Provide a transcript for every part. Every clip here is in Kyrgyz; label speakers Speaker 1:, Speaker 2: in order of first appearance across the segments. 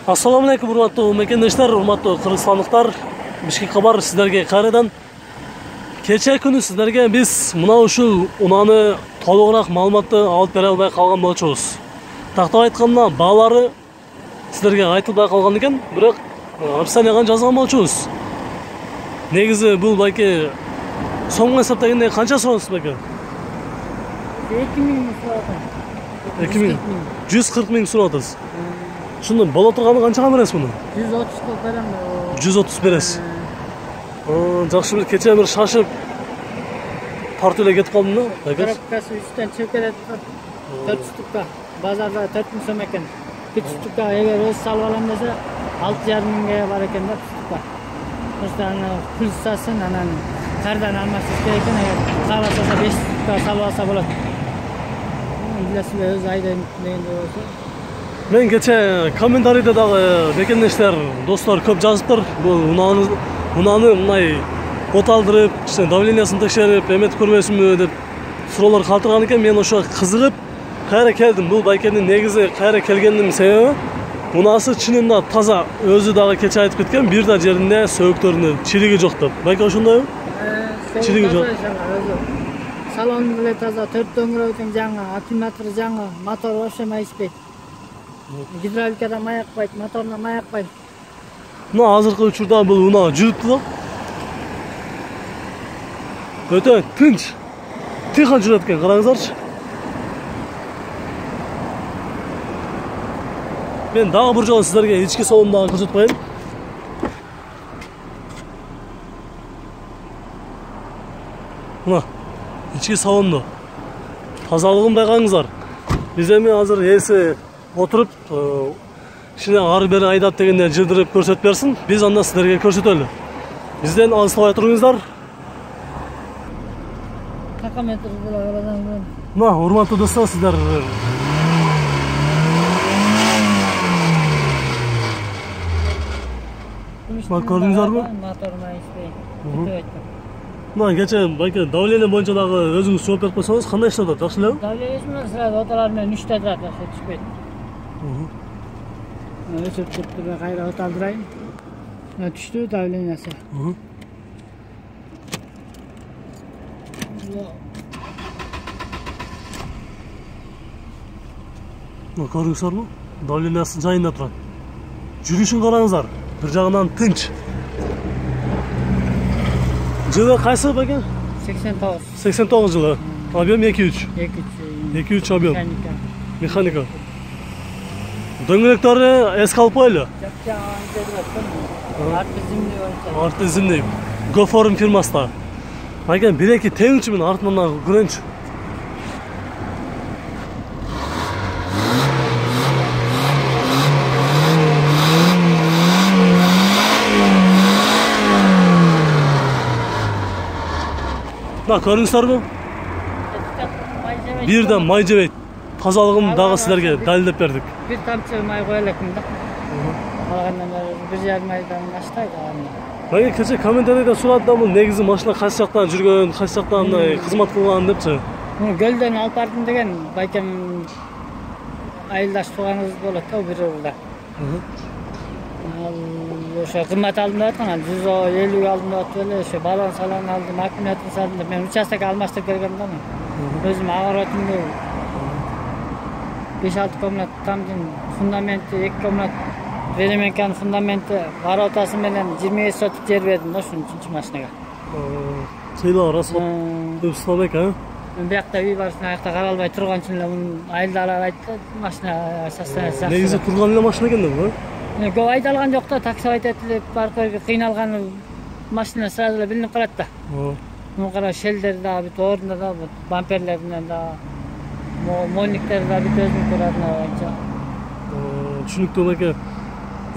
Speaker 1: Ассаламу алейкум, урматтуу мекендештер, урматтуу кыргызстандыктар. Бишкек кабар сиздерге кайрадан. Кече күнү сиздерге биз мына ушул унааны толугураак маалыматты алып бере албай калган болчубуз. Тактап айтканда баалары сиздерге айтылбай калган экен, бирок описанияга жазган болчубуз. Негизи бул байке сомго эсептегенде канча суроосуз байке?
Speaker 2: 2000 суратын.
Speaker 1: 140 миң сурап атасыз. Шуну боло турганы канчага бересиз муну?
Speaker 2: 130 кылып берем.
Speaker 1: 130 бересиз. Жакшы, бир кече бир шашып тартып эле кетип калдым да.
Speaker 2: Коробкасы үстөн чыгып кетет. 4 штука. Базарда 4000 сом экен. 1 штука эгер өз салып алам десе 6,5 миңге бар экен да штука. Просто аны пульсасын анан кардан алмашсыз керек экен. Эгер кааласа 5 штука салып алса болот. Билесиз, өз айдан дегенде болсо.
Speaker 1: Мен кече комментарийде дагы мекендештер, достор көп жазыптыр. Бул унааны мындай оталдырып, давлениясын текшерип, эметип көрбөйсүнбү деп суроолор калтырган экен. Мен ошо кызыгып кайра келдим. Бул байкенин негизи кайра келгендин себеби унаасы чынында таза. Өзү дагы кече айтып кеткен, бир да жеринде сөөктөрүнө чириги жок деп. Байке ошондойбу? Чириги жок.
Speaker 2: Салон деле таза, 4 дөңгөрөктүн жаңы, аккумулятор жаңы, мотор вообще майышпайт. Гидравликада маякпайт, моторуна маякпайт.
Speaker 1: Мына азыркы учурда бул унаа жүрүптү да. Өтө тынч, тыйкан жүрөт экен, караңыздарчы. Мен дагы бир жолу сиздерге ички салонду дагы көрсөтүп коеюн. Мына ички салонду тазалыгын байкаңыздар. Биз эми азыр ээси отуруп, кичине ары бери айдап дегенде жылдырып көрсөтүп берсин. Биз анда сиздерге көрсөтөлү. Бизден алыстабай туруңуздар.
Speaker 2: Такометр деле карасаң.
Speaker 1: Мына урматтуу достор, сиздер көрдүңүздарбы?
Speaker 2: Мотор майышпайт.
Speaker 1: Мына кече байке давление боюнча дагы өзүңүз жооп берип койсоңуз кандай иштеп атат? Жакшы элеби?
Speaker 2: Давление менен сразу оталар менен 3 турат, түшпөйт. Өсүп кетти, кайра оталдырайын. Түштү давлениясы.
Speaker 1: Көрдүңүздөрбү? Давлениясы жайында турат. Жүрүшүн караңыздар. Бир жагынан тынч. Жылы кайсы байке?
Speaker 2: 89.
Speaker 1: 89 жылы. Объем 2-3. 2-3 объем. Механика. Дөңгөлөктөрү эски алып коелу. Арты зимний. Гофорум фирмасында. Байке 1-2 теңчү мен артынан көрөңчү. Мына көрүңүздөрбү? Бирден май жебейт. Тазалыгын дагы силерге далилдеп бердик.
Speaker 2: Бир тамчы май кое элекмин да. Алгандан бери 1,5 айдан аштайт аны.
Speaker 1: Байке кече комментарийде сурады да, бул негизи машина кайсы жактан жүргөн, кайсы жактан кызмат кылган депчи.
Speaker 2: Гөлдөн алып бардым деген байкем айылдаш тууганыбыз болот да, бир жылда. Ошо кызмат алдым деп аткан, 150 алдым деп атып эле, ошо балон салон алдым, аккумулятор салдым деп. Мен участок алмаштырып келгем да. Өзүм агоротумду 5-6 комнат тамдын фундаменти, 2 комнат ведеменканын фундаменти, воротасы менен 25 соток жер бердим да ушун 3-чү машинага.
Speaker 1: Сыйлоо расход көп сылабек, а?
Speaker 2: Мен биякта үй бар, аякта каралбай турган үчүн эле айылдалар айтты, машина состояниясы жакшы.
Speaker 1: Негизи турган эле машина экен да бул.
Speaker 2: Көп айдалган жок да, такси айтып барып кыйналган машина сразу эле билинип калат да. Муну кара, шелдер да бүт ордунда да, бамперлеринен да, мониктер да бүт өзүнүн турарына боюнча.
Speaker 1: Түшүнүктүү байке.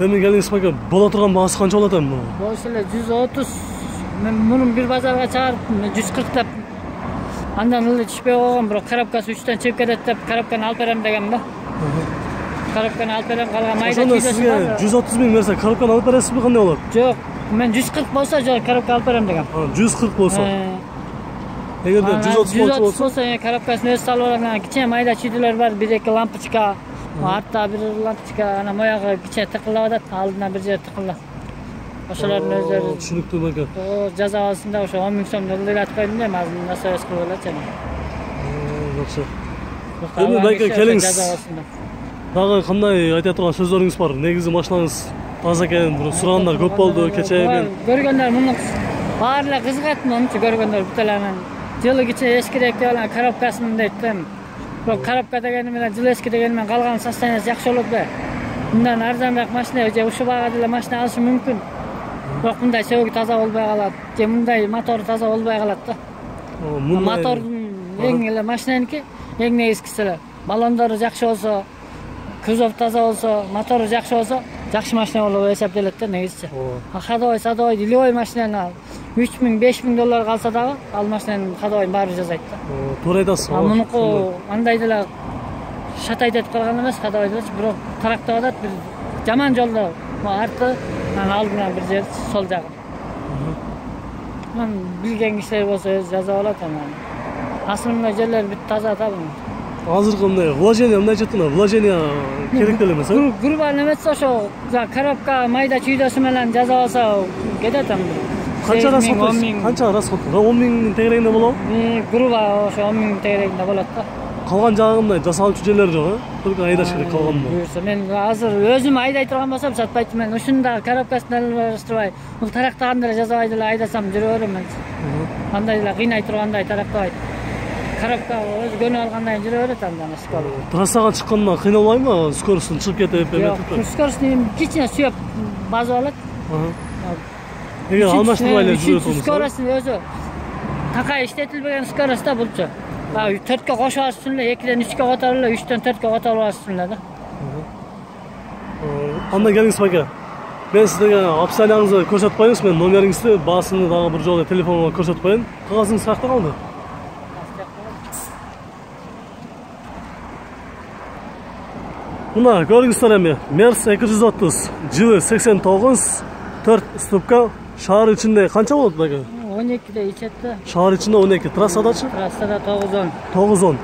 Speaker 1: Эми келиңиз байке, боло турган баасы канча болот эми?
Speaker 2: Болсо эле 130. Мен мунун бир базарга чыгарып 140 деп андан эле түшпөй койгом, бирок коробкасы үчтөн чыгып кетет деп коробканы алып берем дегем да. Коробканы алып берем, калган майда чүйдөсү бар.
Speaker 1: 130 миң берсе коробканы алып бересизби, кандай болот?
Speaker 2: Жок, мен 140 болсо коробка алып берем дегем.
Speaker 1: 140 болсо. Эгерде 130 болсо,
Speaker 2: коробкасын өзү салып алам. Кичине майда чүйдөлөр бар, 1-2 лампочка, Артта бир лампочка ана моягы киче тыкылап атат, алдына бир жер тыкылат. Ошолордун өздөрү
Speaker 1: түшүнүктүү байке.
Speaker 2: жаза алсында ошо 10 000 сом жолдойлатып койдум да, азыр насоес кылып элечи.
Speaker 1: Жакшы. Эми байке келиңиз. Дагы кандай айта турган сөзлөрүңүз бар? Негизи машинаңыз таза экен, бирок сурагандар көп болду кечээ мен.
Speaker 2: Көргөндөр муну баары кызыгат, мунчу көргөндөр буталанын. Жылы киче эскирээк деп алган коробкасын дейт да. Бирок коробка дегени менен жылы эски дегени менен калган состояниясы жакшы болот да. Мындан арзанбак машина же ушул багада эле машина алышы мүмкүн. Бирок мындай сөөгү таза болбой калат, же мындай мотору таза болбой калат да. Мотордун эң эле машинаники, эң негизгиси эле. Баллондору жакшы болсо, кузов таза болсо, мотору жакшы болсо, жакшы машина болуп эсептелет да негизчи. Ходовой, садовой, любой машинаны ал 3 000, 5 000 доллар калса дагы, ал машинанын ходовойн баары жазайт да.
Speaker 1: Туура айтасыз.
Speaker 2: Мунуку андай деле шатайт этип калган эмес, ходовой делечи, бирок тарактап атат, бир жаман жолдо. Арты, алдына бир жер, сол жагы. Мен билген кишилер болсо өзү жаза алат анан. Асылында жерлер бүт таза табын.
Speaker 1: Азыркы мындай вложение мындай жеттина, вложение керек деле эмес, э?
Speaker 2: Грубо немесе ошо коробка майда чүйдөсү менен жаза алса кетет анда.
Speaker 1: Канча расход? Канча расход? 10 000 тегерегинде болобу?
Speaker 2: Грубо ошо 10 000 тегерегинде болот да.
Speaker 1: Калган жагында жасалчу жерлер жок, э? Только айдаш керек калганда.
Speaker 2: Буюрса мен азыр өзүм айдай турган болсом сатпайт мен. Ушунда коробкасын алыштырбай, бул тарактаганда эле жазабай деле айдасам жүрө берем мен. Андай эле кыйнай тургандай тарактабайт. Коробка өзү көнүп алгандан жүрө берет андан скоро.
Speaker 1: Трассага чыкканда кыйналбайбы? Скоростун чыгып кетип,
Speaker 2: эметип. Скоростун кичине сүйөп базып алат.
Speaker 1: Эгер алмаштырбай эле жүрөт болсо.
Speaker 2: Скоростун өзү такай иштетилбеген скорост да булчу. 4кө кошуп алыш үчүн эле 2ден 3кө которуп эле 3дөн 4кө которуп алыш үчүн эле да.
Speaker 1: Анда келиңиз байке. Мен сизге опцияңызды көрсөтүп коеюңуз, мен номериңизди, баасыны дагы бир жолу телефонго көрсөтүп коеюн. Кагазыңыз каякта калды? Мына көрүңүздөр эми Merz 230 жылы 89 4 ступка шаар ичинде канча болот байке?
Speaker 2: 12де ичет да.
Speaker 1: Шаар ичинде 12, трассадачы?
Speaker 2: Трассада 9-10.
Speaker 1: 9-10.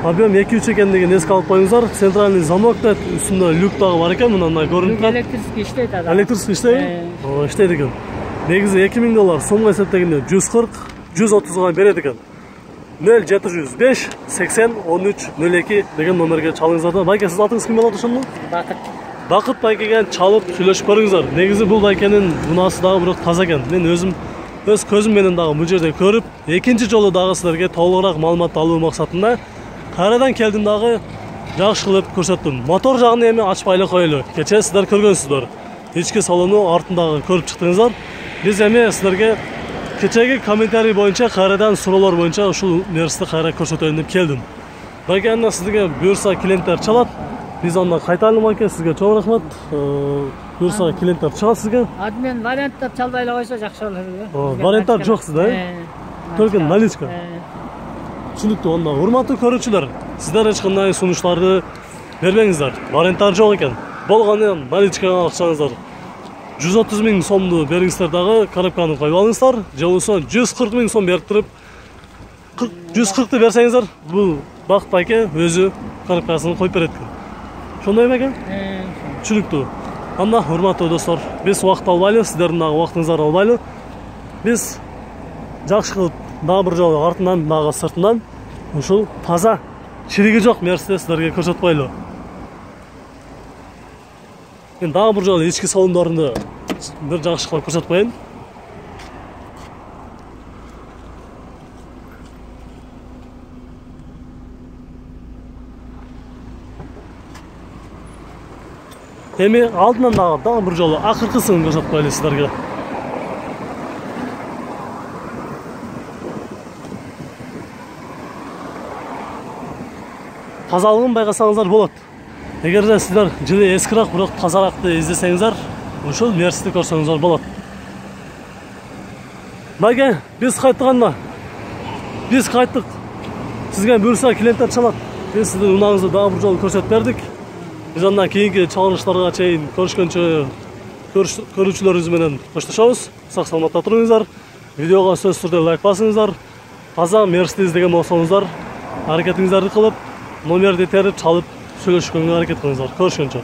Speaker 1: Объем 2-3 экендигин эске алып коюңуздар. Центральный замок да, үстүндө люк дагы бар экен, мындай көрүнүп турат.
Speaker 2: Электрический иштейт ада.
Speaker 1: Электрический иштейби? Иштейт экен. Негизи 2000 доллар сомго эсептегенде 140, 130га берет экен. 0705 80 13 02 деген номерге чалыңыздар да. Байке, сиз атыңыз ким болот ошондо?
Speaker 2: Бакыт.
Speaker 1: Бакыт байкеге чалып сүйлөшүп көрүңүздөр. Негизи бул байкенин унаасы дагы бирок таза экен. Мен өзүм өз көзүм менен дагы бул жерде көрүп, экинчи жолу дагы силерге толугураак маалымат алуу максатында кайрадан келдим дагы жакшы кылып көрсөттүм. Мотор жагын эми ачпай эле коелу. Кечээ силер көргөнсүздөр. Ички салону артындагы көрүп чыктыңыздар. Биз эми силерге кечеги комментарий боюнча кайрадан суроолор боюнча ушул Merz'ти кайра көрсөтөйүн деп келдим. Байке, анда сизге буюрса клиенттер чалат. Биз анда кайталым байке, сизге чоң рахмат. Буюрса клиенттер чыгат сизге.
Speaker 2: Адмен варианттап чалбай эле койсо жакшы болот.
Speaker 1: Варианттар жок сизде, э? Только наличка. Түшүнүктүү. Анда урматтуу көрүүчүлөр, сиздер эч кандай сунуштарды бербеңиздер. Варианттар жок экен. Болгону наличкага акчаңыздар 130 000 сомду бериңиздер дагы коробканы коюп алыңыздар. Же болбосо 140 000 сом берип туруп 140ты берсеңиздер, бул Бакыт байке өзү коробкасын коюп берет экен. Ошондой байке? Түшүнүктүү. Анда урматтуу достор, биз убакыт албайлы, сиздердин дагы убактыңыздарды албайлы. Биз жакшы кылып дагы бир жолу артынан дагы сыртынан ушул таза чириги жок Merz'ти сиздерге көрсөтүп коелу. Мен дагы бир жолу ички салондорунду бир жакшы кылып көрсөтүп коеюн. Эми алдынан дагы бир жолу акыркысын көрсөтүп коелу сиздерге. Тазалыгын байкасаңыздар болот. Эгерде сиздер жылы эскирак, бирок тазаракты издесеңиздер, ушул Merz'ти көрсөңүздөр болот. Байке, биз кайтканда, биз кайттык. Сизге буюрса клиенттер чалат. Биз сиздин унааңызды дагы бир жолу көрсөтүп бердик. Биз анда кийинки чалыныштарга чейин көрүшкөнчө көрүүчүлөрүбүз менен коштошобуз. Сак саламатта туруңуздар. Видеого сөзсүз түрдө лайк басыңыздар. Таза Merz'ти издеген болсоңуздар, аракетиңиздерди кылып, номерди терип чалып сүйлөшкөнгө аракет кылыңыздар. Көрүшкөнчө.